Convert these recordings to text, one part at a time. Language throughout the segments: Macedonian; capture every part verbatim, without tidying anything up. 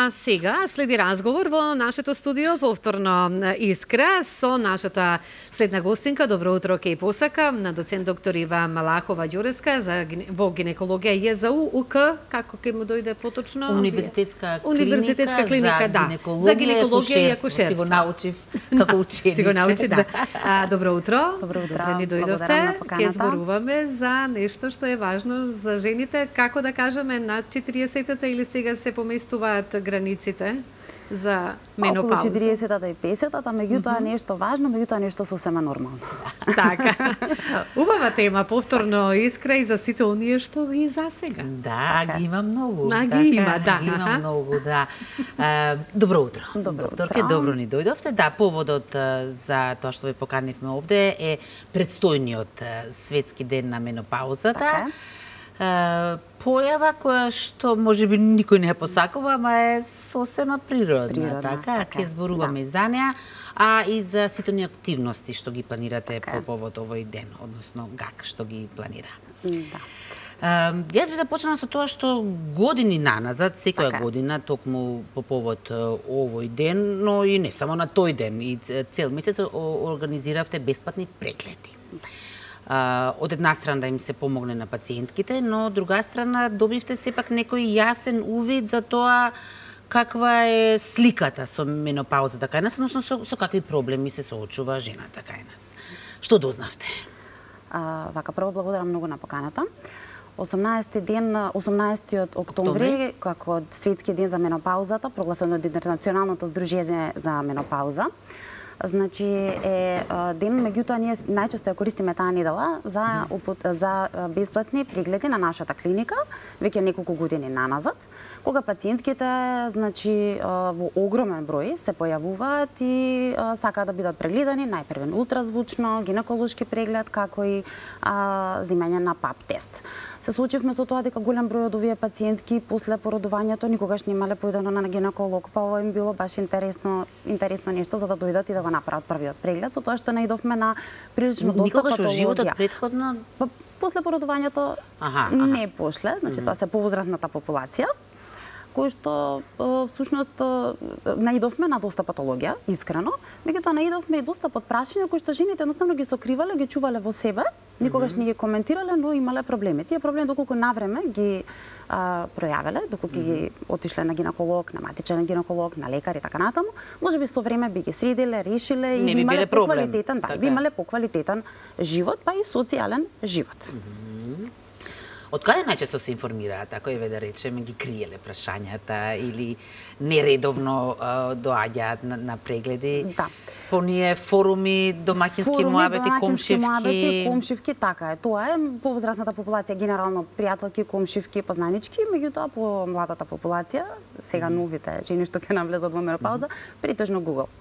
А сега следи разговор во нашето студио, повторно Искра, со нашата следна гостинка. Добро утро, ке посака, на доцент доктор Ива Малахова Ѓуреска за во гинекологија ЈЗУ УК, како ќе му дојде поточно? Универзитетска клиника, Универзитетска клиника, за да. гинекологија, За гинекологија и акушерство. Си го научив како ученик. Си го научи, да. А, добро утро. Добро утро. Добре ни дојдовте. Ќе зборуваме за нешто што е важно за жените, како да кажеме, над четириесетата или сега се поместуваат границите за менопауза? Околу четириесетата и песетата, меѓутоа нешто важно, меѓутоа нешто сосема нормално. Така. Убава тема, повторно Искра и за сите оние што ги засега. Да, ги има многу. А, ги има, да. Ги има многу, да. А, добро утро. Добро Докторке, утро. добро ни дојдовте. Да, поводот а, за тоа што ве поканивме овде е предстојниот а, светски ден на менопаузата. Така е. Uh, појава која што можеби никој не ја посакува, ама е сосема природна, Природна, така? така Ќе е, зборуваме да. и за неа, а и за сите оние активности што ги планирате Така е. по повод овој ден, односно ГАК што ги планира. Да. Uh, јас би започнала со тоа што години наназад, секоја Така е. година, токму по повод uh, овој ден, но и не само на тој ден, и цел месец о- организиравте бесплатни прегледи. Uh, од една страна да им се помогне на пациентките, но од друга страна добивте сепак некој јасен увид за тоа каква е сликата со менопаузата кај нас, односно со, со какви проблеми се соочува жената кај нас. Што дознавте? А, вака, прво благодарам многу на поканата. осумнаесети ден, осумнаесети октомври, Октомври. како светски ден за менопаузата, прогласен од Интернационалното здружение за менопауза. Значи е а, ден, меѓутоа ние најчесто ја користиме таа недела за упут, за а, бесплатни прегледи на нашата клиника, веќе неколку години наназад, кога пациентките, значи а, во огромен број се појавуваат и а, сакаат да бидат прегледани, најпрвен ултразвучно, гинеколошки преглед, како и а, земање на пап тест. Се случивме со тоа дека голем број од овие пациентки после породувањето никогаш немале појдено на гинеколог, па ова им било баш интересно, интересно нешто за да дојдат и да го направат првиот преглед, со тоа што наидовме на прилично доста Никогаш во патологија. животот претходно? Па, после породувањето Аха, аха. не после, значи тоа се повозрастната популација, кој што е, всушност е, наидовме на доста патологија, искрено, меѓутоа наидовме и доста под прашања кои што жените едноставно ги сокривале, ги чувале во себе, никогаш не ги коментирале, но имале проблеми. Тие проблеми доколку навреме ги а, пројавиле, доколку ги отишле на гинеколог, на матичен гинеколог, на лекар и така натаму, можеби со време би ги средиле, решиле и Не би би имале биле проблем. поквалитетен, да, Така би е. имале поквалитетен живот, па и социјален живот. Од каде најчесто се информираат, ако еве да речеме ги криеле прашањата или нередовно а, доаѓаат на, на прегледи? Да. По ние форуми, домаќински Форуми, муабети, домаќински комшивки. муабети, комшивки, така е. Тоа е по возрастната популација генерално пријателки, комшивки, познанички, меѓутоа по младата популација, сега новите жени што ќе навлезат во менопауза, притежно Google.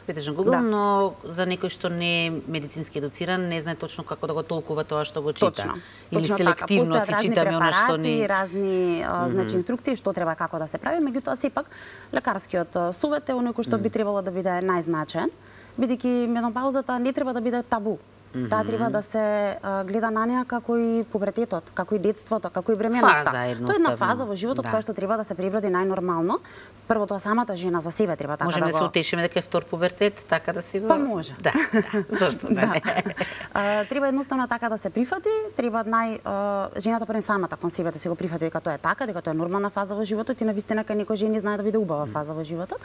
Претежно Google, Да. но за некој што не е медицински едуциран, не знае точно како да го толкува тоа што го чита. Точно. Или Точно селективно така. си Постојат читаме разни она што препарати, ни... разни а, значи инструкции што треба како да се прави, меѓутоа сепак лекарскиот а, совет е оној кој што би требало да биде најзначаен, бидејќи менопаузата не треба да биде табу. Таа треба да се а, гледа на неа како и пубертетот, како и детството, како и бременоста. Фаза, Тоа е една едноставно. фаза во животот Да. која што треба да се преброди најнормално. Прво тоа самата жена за себе треба така Можеме да да се го... утешиме дека е втор пубертет, така да си го... Па може. Да, да. Зошто да не? А, треба едноставно така да се прифати, треба нај а, жената пред самата кон себе да се го прифати дека тоа е така, дека тоа е нормална фаза во животот и навистина кај некои жени знае да биде убава фаза во животот.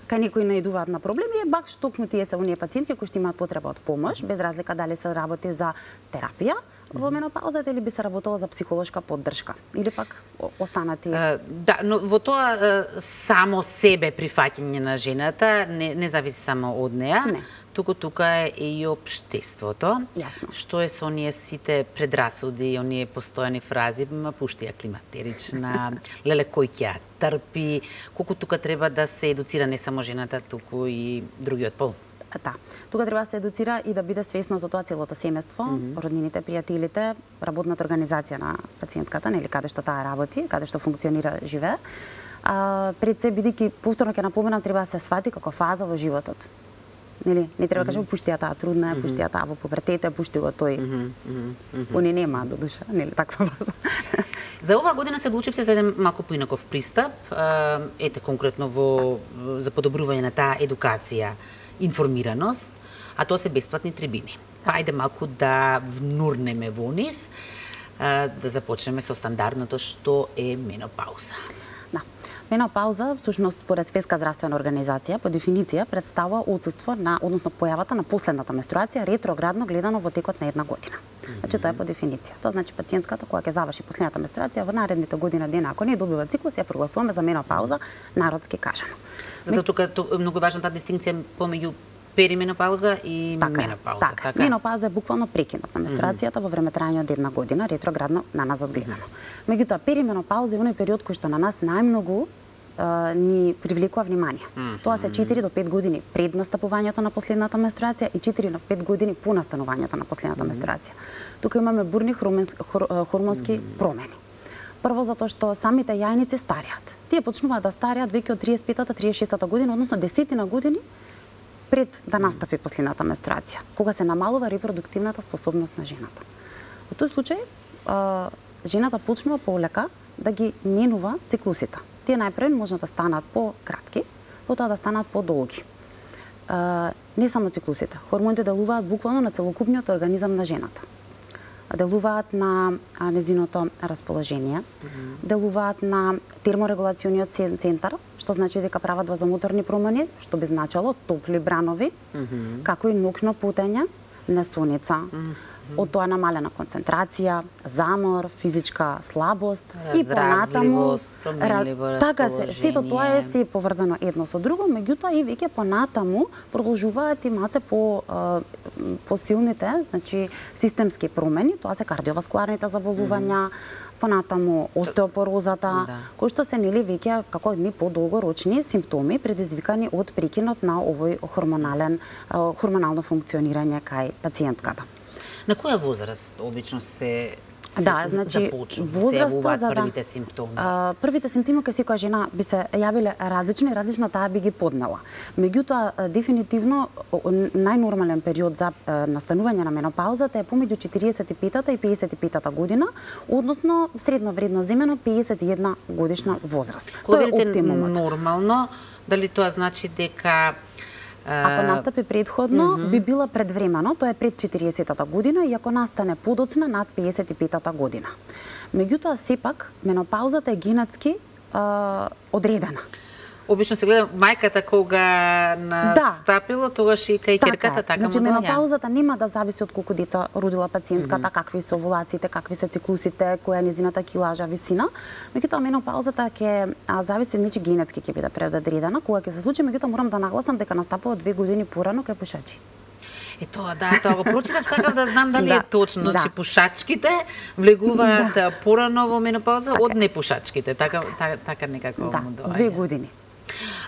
Кај некои наидуваат на проблеми, е бак штокму тие се оние пациентки кои што имаат потреба од помош, без разлика дали се работи за терапија во менопаузата или би се работело за психолошка поддршка или пак о- останати. Е, Да, но во тоа е, само себе прифаќање на жената не, не зависи само од неа, Не. туку тука е и општеството. Јасно. Што е со оние сите предрасуди, оние постојани фрази, ма пушти ја климатерична, леле кој ќе ја трпи, колку тука треба да се едуцира не само жената, туку и другиот пол. Да. Тука треба да се едуцира и да биде свесно за тоа целото семејство, mm -hmm. роднините, пријателите, работната организација на пациентката, нели каде што таа работи, каде што функционира, живее. А, пред се бидејќи повторно ќе напоменам треба да се свати како фаза во животот. Нели, не треба да кажеме пушти ја таа трудна, е, пушти ја таа во пубертета, пушти го тој. Они нема до душа, нели таква фаза. За оваа година се одлучивте за еден малку поинаков пристап, ете конкретно во за подобрување на таа едукација, информираност, а тоа се бесплатни трибини. Па ајде малку да внурнеме во нив, да започнеме со стандардното што е менопауза. Да. Менопауза, всушност, според Светска здравствена организација, по дефиниција претставува отсуство на, односно појавата на последната менструација ретроградно гледано во текот на една година. Значи тоа е по дефиниција. Тоа значи пациентката кога ќе заврши последната менструација во наредните година дена, ако не добива циклус, ја прогласуваме за менопауза, народски кажано. Затоа тука е многу важна таа дистинкција помеѓу перименопауза и така, менопауза. Така. така. Менопауза е буквално прекинот на менструацијата mm -hmm. во време трајање од една година, ретроградно на назад гледано. Меѓутоа, перименопауза е оној период кој што на нас најмногу Uh, ни привлекува внимание. Mm -hmm. Тоа се четири до пет години пред настапувањето на последната менструација и четири до пет години по настанувањето на последната mm -hmm. менструација. Тука имаме бурни хормонски, хор, хормонски mm -hmm. промени. Прво затоа што самите јајници стареат. Тие почнуваат да стареат веќе од триесет и петата триесет и шестата година, односно десетина години пред да настапи последната менструација, кога се намалува репродуктивната способност на жената. Во тој случај, uh, жената почнува полека да ги менува циклусите. Тие најпрво може да станат по-кратки, потоа да станат по-долги. Не само циклусите, хормоните делуваат буквално на целокупниот организам на жената. Делуваат на незиното расположение, mm -hmm. делуваат на терморегулациониот центар, што значи дека прават вазомоторни промени, што би значало топли бранови, mm -hmm. како и нокно путење, несоница, mm -hmm. од тоа намалена концентрација, замор, физичка слабост и понатаму така се, сето тоа е се поврзано едно со друго, меѓутоа и веќе понатаму продолжуваат и малце по посилните, значи системски промени, тоа се кардиоваскуларните заболувања, mm -hmm. понатаму остеопорозата, да. кои што се нели веќе како едни подолгорочни симптоми предизвикани од прекинот на овој хормонален хормонално функционирање кај пациентката. На која возраст обично се Да, значи возраста за првите симптоми. А, првите симптоми кај секоја жена би се јавиле различно и различно таа би ги поднела. Меѓутоа, дефинитивно најнормален период за настанување на менопаузата е помеѓу четириесет и петата и пеесет и петата година, односно средно вредно земено пеесет и една годишна возраст. Тоа е оптимумот. Нормално, дали тоа значи дека ако настапи предходно, mm -hmm. би била предвремено, тоа е пред четириесетата година, и ако настане подоцна над пеесет и петата година. Меѓутоа, сепак, менопаузата е генетски а, одредена. Обично се гледа мајката кога настапило, да. тогаш и кај ќерката, така, значи, менопаузата нема да зависи од колку деца родила пациентката, mm -hmm. какви се овулациите, какви се циклусите, која е низината килажа, висина. Меѓутоа, менопаузата ќе зависи, значи генетски ќе биде предодредена, кога ќе се случи, меѓутоа морам да нагласам дека настапува две години порано кај пушачи. Е тоа, да, тоа го прочитав, сакав да знам дали да, е точно, да. Значи пушачките влегуваат да. порано во менопауза така. Од непушачките, така, така, така некако да, му доаѓа. две години.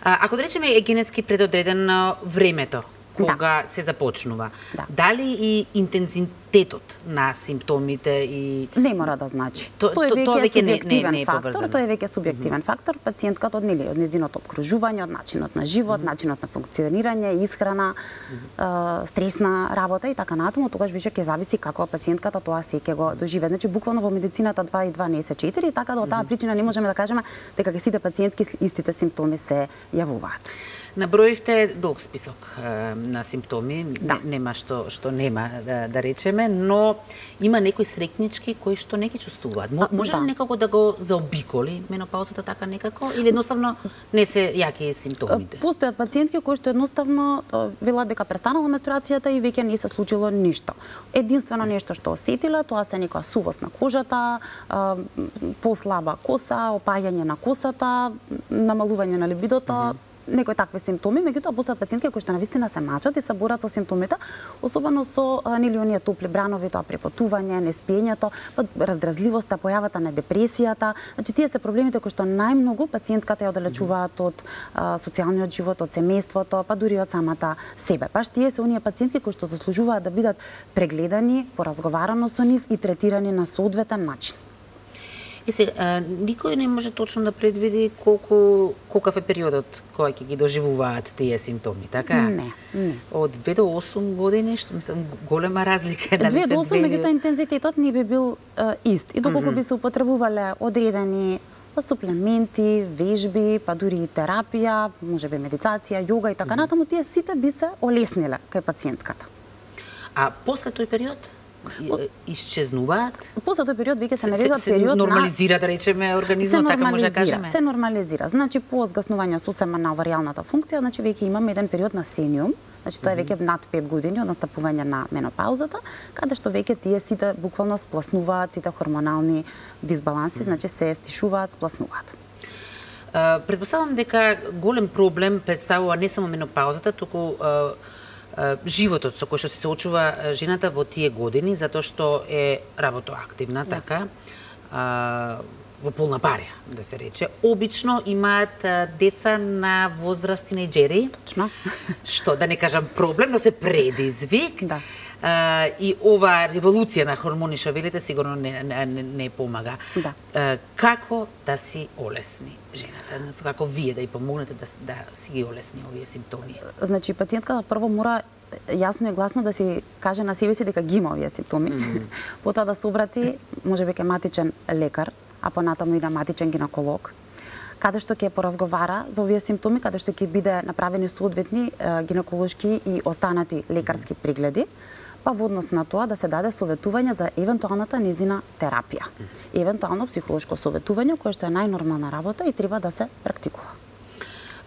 А, ако да речеме е генетски предодредено времето кога да. се започнува, да. дали и интензитетот на симптомите и не мора да значи. То, Тој е веќе субјективен не, не, не фактор, тој е веќе субјективен mm -hmm. фактор, пациентката од нели од незиното обкружување, од начинот на живот, mm -hmm. начинот на функционирање, исхрана, mm -hmm. е, стресна работа и така натаму, тогаш више ќе зависи како пациентката тоа се ќе го доживее. Значи буквално во медицината два и два не се четири, така да од таа причина не можеме да кажеме дека ке сите пациентки истите симптоми се јавуваат. Наброивте долг список е, на симптоми, да. не, нема што што нема да, да речеме, но има некои срекнички кои што не ги чувствуваат. Може да. ли некако да го заобиколи менопаузата така некако или едноставно не се јаки симптомите? Постојат пациентки кои што едноставно велат дека престанала менструацијата и веќе не се случило ништо. Единствено нешто што осетила, тоа се некоја сувост на кожата, послаба коса, опаѓање на косата, намалување на либидото, mm -hmm. некои такви симптоми, меѓутоа постојат пациентки кои што навистина се мачат и се борат со симптомите, особено со нели оние топли бранови, тоа препотување, неспиењето, раздразливоста, појавата на депресијата. Значи тие се проблемите кои што најмногу пациентката ја оддалечуваат од а, социјалниот живот, од семејството, па дури од самата себе. Баш тие се оние пациентки кои што заслужуваат да бидат прегледани, поразговарано со нив и третирани на соодветен начин. И се, а, никој не може точно да предвиди колку колкав е периодот кој ќе ги доживуваат тие симптоми, така? Не, не. Од две до осум години, што мислам голема разлика е, дали две се до осум, две- меѓутоа интензитетот не би бил а, ист. И доколку Мгм. би се употребувале одредени па суплементи, вежби, па дури и терапија, можеби медитација, јога и така натаму, тие сите би се олесниле кај пациентката. А после тој период и- исчезнуваат? После тој период веќе се Се, наведува се период на нормализира, да речеме, се организмот, така може да нормализира, кажеме? се нормализира. Значи по згаснување сосема на оваријалната функција, значи веќе имаме еден период на сениум, значи тоа е веќе над пет години од настапување на менопаузата, каде што веќе тие сите буквално спласнуваат, сите хормонални дисбаланси, значи се стишуваат, спласнуваат. А, Предпоставам дека голем проблем представува не само менопаузата, туку а, а, животот со кој што се соочува а, жената во тие години, затоа што е работоактивна, така, а, во полна парја, да се рече. Обично имаат а, деца на возраст тинејџери, Точно. што да не кажам проблем, но се предизвик. Да. А, и ова револуција на хормони што велите сигурно не, не, не, не помага. Да. А, како да си олесни жената? Односно, како вие да ја помогнете да, с- да си ги олесни овие симптоми? Значи пациентката прво мора јасно и гласно да си каже на себе си дека ги има овие симптоми. Мгм. Потоа да се обрати можеби кај матичен лекар, а понатаму и на матичен гинеколог, каде што ќе поразговара за овие симптоми, каде што ќе биде направени соодветни е, гинеколошки и останати лекарски прегледи, па во однос на тоа да се даде советување за евентуалната низина терапија. Евентуално психолошко советување, кое што е најнормална работа и треба да се практикува.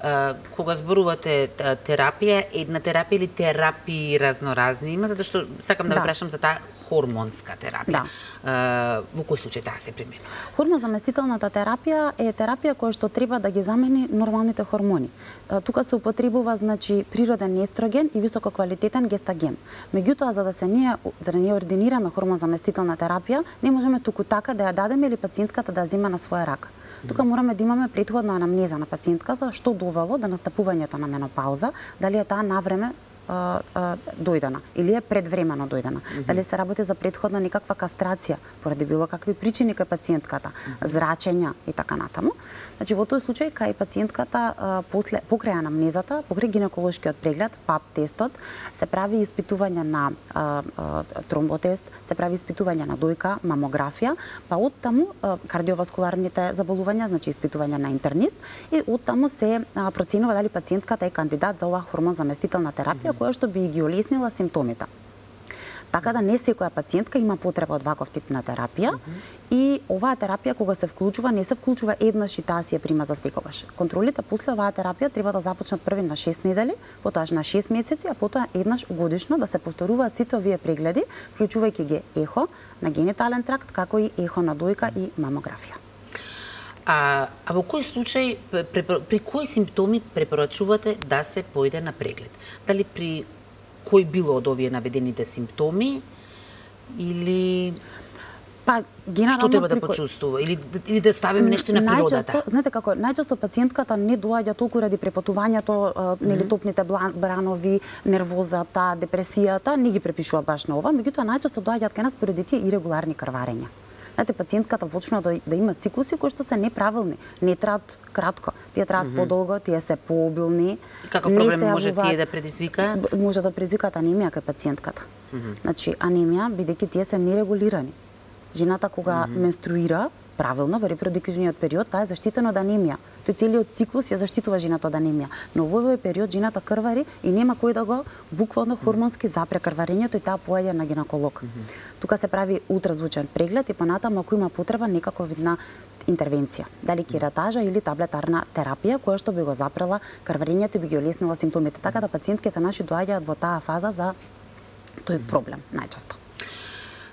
А, кога зборувате а, терапија, една терапија или терапии разноразни има, затоа што сакам да, Да. ве прашам за таа хормонска терапија. Да. А, во кој случај таа се применува? Хормозаместителната терапија е терапија која што треба да ги замени нормалните хормони. Е, Тука се употребува значи природен естроген и висококвалитетен гестаген. Меѓутоа за да се ние за да ние ординираме хормозаместителна терапија, не можеме туку така да ја дадеме или пациентката да ја зема на своја рака. Тука мораме да имаме претходна анамнеза на пациентката што довело до настапувањето на менопауза, дали е таа навреме а, а, дојдена или е предвремено дојдена. Дали се работи за претходна некаква кастрација поради било какви причини кај пациентката, зрачења и така натаму. Значи во тој случај кај пациентката а, после покрај анамнезата, покрај гинеколошкиот преглед, пап тестот, се прави испитување на а, а, тромботест, се прави испитување на дојка, мамографија, па од таму а, кардиоваскуларните заболувања, значи испитување на интернист и од таму се а, проценува дали пациентката е кандидат за оваа хормозаместителна терапија која што би ги олеснила симптомите. Така да не секоја пациентка има потреба од ваков тип на терапија и оваа терапија кога се вклучува, не се вклучува еднаш и таа си ја прима за секогаш. Контролите после оваа терапија треба да започнат први на шест недели, потоа на шест месеци, а потоа еднаш годишно да се повторуваат сите овие прегледи, вклучувајќи ги ехо на генитален тракт, како и ехо на дојка и мамографија. А, а во кој случај, при, при кои симптоми препорачувате да се појде на преглед? Дали при кој било од овие наведените симптоми или Па генерално што треба да при кој- почувствува или или да ставиме нешто на природата? Најчесто, знаете како, најчесто пациентката не доаѓа толку ради препатувањето, а, нели топните блан- бранови, нервозата, депресијата, не ги препишува баш на ова, меѓутоа најчесто доаѓаат кај нас поради тие ирегуларни крварења. Знаете, пациентката почнува да, да има циклуси кои што се неправилни, не траат кратко, тие траат mm -hmm. подолго, тие се пообилни. Каков не проблем се може јавуваат- тие да предизвикаат? Б- Може да предизвикаат анемија кај пациентката. Mm -hmm. Значи, анемија, бидејќи тие се нерегулирани. Жената кога mm -hmm. менструира правилно во репродуктивниот период, таа е заштитена од анемија. Тој целиот циклус ја заштитува жената од анемија. Но во овој период жената крвари и нема кој да го буквално хормонски запре крварењето и таа поаѓа на гинеколог. Mm -hmm. Тука се прави ултразвучен преглед и понатаму ако има потреба некаква вид на интервенција, дали кератажа или таблетарна терапија која што би го запрела крварењето и би ги олеснила симптомите. Така да пациентките наши доаѓаат во таа фаза за тој проблем најчесто.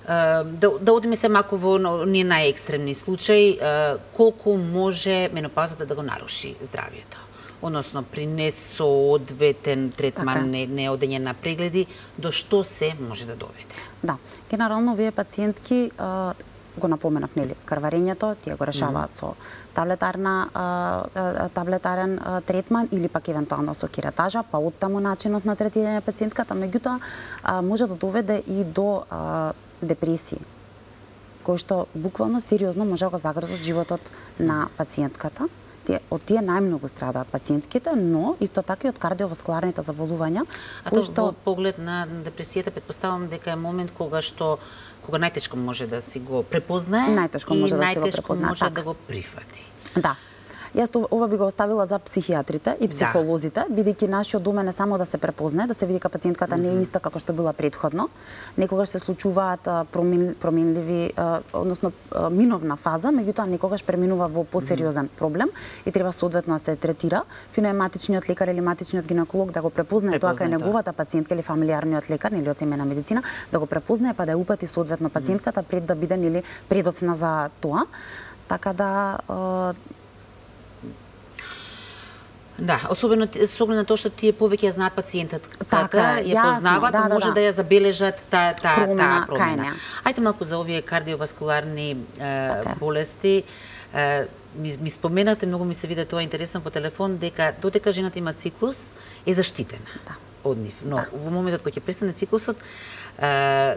Uh, да, да одиме се малку во ние најекстремни случаи, uh, колку може менопаузата да го наруши здравието? Односно, при несоодветен третман, Така. не, не одење на прегледи, до што се може да доведе? Да, генерално овие пациентки а, го напоменав, нели, крварењето, тие го решаваат mm -hmm. со таблетарна а, а, таблетарен а, третман или пак евентуално со кератажа, па оттаму начинот на третирање пациентката, меѓутоа а, може да доведе и до а, депресија, кои што буквално сериозно може да го загрозат животот на пациентката. Тие, од тие најмногу страдаат пациентките, но исто така и од кардиоваскуларните заболувања. А тоа што... во поглед на депресијата, предпоставам дека е момент кога што кога најтешко може да си го препознае најтешко може и да си го најтешко препознае, може така. да го прифати. Да. Јас ова би го оставила за психијатрите и психолозите, да. Бидејќи нашиот домен е само да се препознае, да се види дека пациентката mm -hmm. не е иста како што била претходно. Некогаш се случуваат промен, променливи, односно миновна фаза, меѓутоа некогаш преминува во посериозен проблем и треба соодветно да се третира. Фино е матичниот лекар или матичниот гинеколог да го препознае тоа кај неговата пациентка или фамилиарниот лекар или од семејна медицина, да го препознае па да ја упати соодветно пациентката пред да биде нели предоцна за тоа. Така да Да, особено со оглед на тоа што тие повеќе ја знаат пациентот, така ја познаваат, да, да, може да. да ја забележат таа таа промена, промена. Ајде малку за овие кардиоваскуларни е, така. болести. Е, ми, ми споменавте, многу ми се виде тоа интересно по телефон, дека додека жената има циклус е заштитена да. од нив. Но да. во моментот кога ќе престане циклусот, е,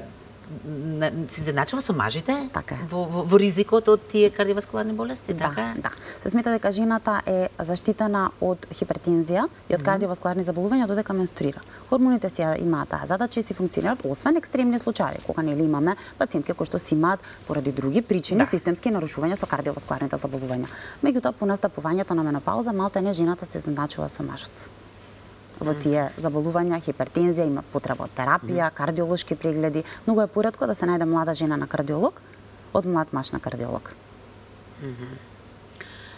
се изедначува со мажите така во, во, во ризикот од тие кардиоваскуларни болести, да, така? Да, се смета дека жената е заштитена од хипертензија и од кардиоваскуларни заболувања додека менструира. Хормоните си имаат таа задача и си функционираат, освен екстремни случаи, кога нели имаме пациентки кои што си имаат поради други причини да. системски нарушувања со кардиоваскуларните заболувања. Меѓутоа, по настапувањето на менопауза, малтене жената се изедначува со мажот. Во тие заболувања, хипертензија, има потреба од терапија, кардиолошки прегледи. Многу е поретко да се најде млада жена на кардиолог од млад маж на кардиолог. Mm -hmm.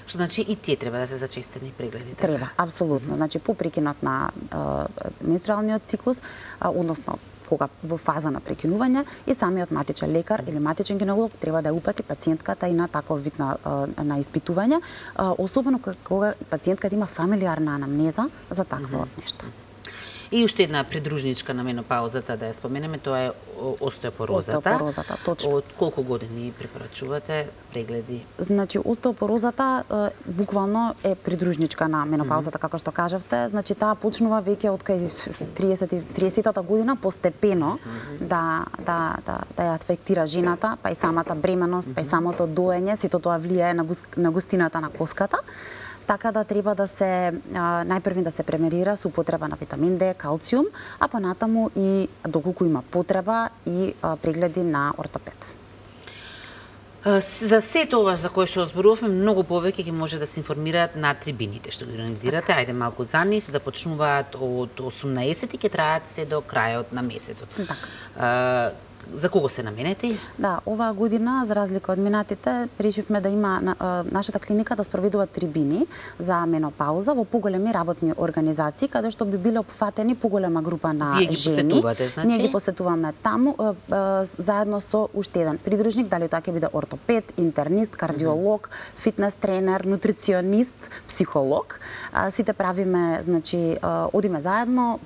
Што значи и тие треба да се зачестени прегледи? Така? Треба, апсолутно. Mm -hmm. Значи по прекинот на uh, менструалниот циклус, uh, односно кога во фаза на прекинување и самиот матичен лекар или матичен гинеколог треба да ја упати пациентката и на таков вид на, на испитување, особено кога пациентката има фамилиарна анамнеза за такво mm -hmm. нешто. И уште една придружничка на менопаузата да ја споменеме, тоа е остеопорозата. Остеопорозата, точно. Од колку години препорачувате прегледи? Значи, остеопорозата е, буквално е придружничка на менопаузата, mm -hmm. како што кажавте. Значи, таа почнува веќе од кај триесетата година постепено mm -hmm. да, да, да, да ја афектира жената, па и самата бременост, mm -hmm. па и самото доење, сето тоа влијае на, густ, на густината на коската. Така да треба да се најпрви да се премерира со употреба на витамин Д, калциум, а понатаму и доколку има потреба и прегледи на ортопед. За сето ова за кое што зборувавме, многу повеќе ќе може да се информираат на трибините што ги организирате. Така. Ајде малку за нив, започнуваат од осумнаесет и ќе траат се до крајот на месецот. Така. За кого се наменети? Да, оваа година, за разлика од минатите, решивме да има на, нашата клиника да спроведува трибини за менопауза во поголеми работни организации, каде што би биле опфатени поголема група на Вие ги жени. посетувате, значи? Ние ги посетуваме таму, заедно со уште еден придружник, дали тоа ќе биде ортопед, интернист, кардиолог, mm -hmm. фитнес тренер, нутриционист, психолог. Сите правиме, значи, одиме заедно,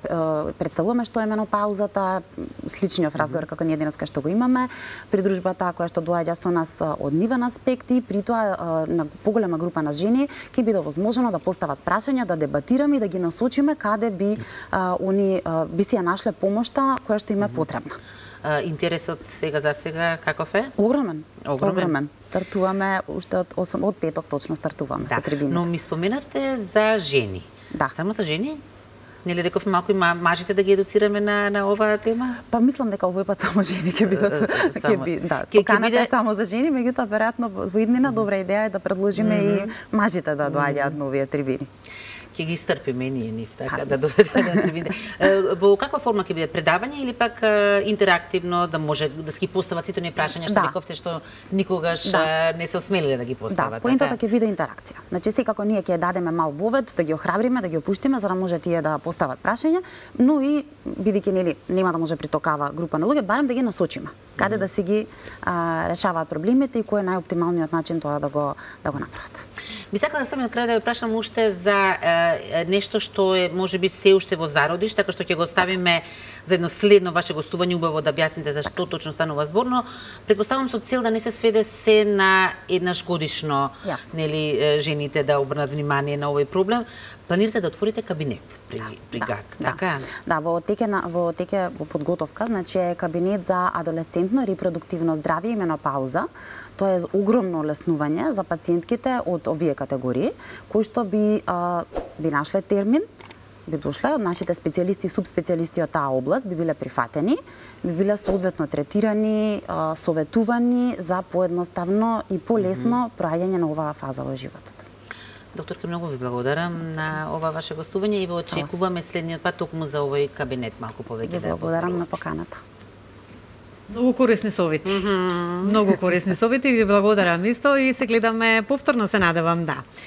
представуваме што е менопаузата, сличниот разговор mm -hmm. како ние денеска што го имаме, придружбата која што доаѓа со нас од нивен аспект и при тоа на поголема група на жени ќе биде возможно да постават прашања, да дебатираме и да ги насочиме каде би а, они а, би си ја нашле помошта која што им е потребна. А, интересот сега за сега каков е? Огромен. Огромен. Огромен. Стартуваме уште од осем од петок точно стартуваме да. со трибините. Но ми споменавте за жени. Да. Само за жени? Нели рековме малку и мажите да ги едуцираме на на оваа тема? Па мислам дека овој пат само жени ќе бидат ќе би да, поканата биде... е само за жени, меѓутоа веројатно во иднина добра идеја е да предложиме mm -hmm. и мажите да доаѓаат на овие трибини. Ќе ги истрпиме ние нив, така да доведат да трибините. Во каква форма ќе биде, предавање или пак интерактивно да може да се ги постават сите оние прашања што да. рековте што никогаш да. не се осмелиле да ги постават? Да, поентата ќе биде интеракција. Значи секако ние ќе дадеме мал вовед, да ги охрабриме, да ги опуштиме за да може тие да постават прашања, но и бидејќи нели нема да може при такава група на луѓе, барем да ги насочиме каде mm -hmm. да си ги а, решаваат проблемите и кој е најоптималниот начин тоа да го да го направат. Би сакала да сам на крај да ве прашам уште за е, нешто што е можеби се уште во зародиш, така што ќе го ставиме за едно следно ваше гостување, убаво да објасните за што точно станува збор, но претпоставам со цел да не се сведе се на еднаш годишно, Јасно. нели жените да обрнат внимание на овој проблем. Планирате да отворите кабинет при, да, при да, ГАК, да. така? Да, во текот теке на во теке во подготовка, значи е кабинет за адолесцентно репродуктивно здравје и менопауза. Тоа е огромно олеснување за пациентките од овие категории, кои што би а, би нашле термин, би дошле од нашите специјалисти и субспецијалисти од таа област, би биле прифатени, би биле соодветно третирани, а, советувани за поедноставно и полесно проаѓање на оваа фаза во животот. Докторке, многу ви благодарам на ова ваше гостување и ве очекуваме следниот пат токму за овој кабинет малку повеќе да ја благодарам на поканата. Многу корисни совети. Mm -hmm. Многу корисни совети, ви благодарам исто и се гледаме повторно, се надевам, да.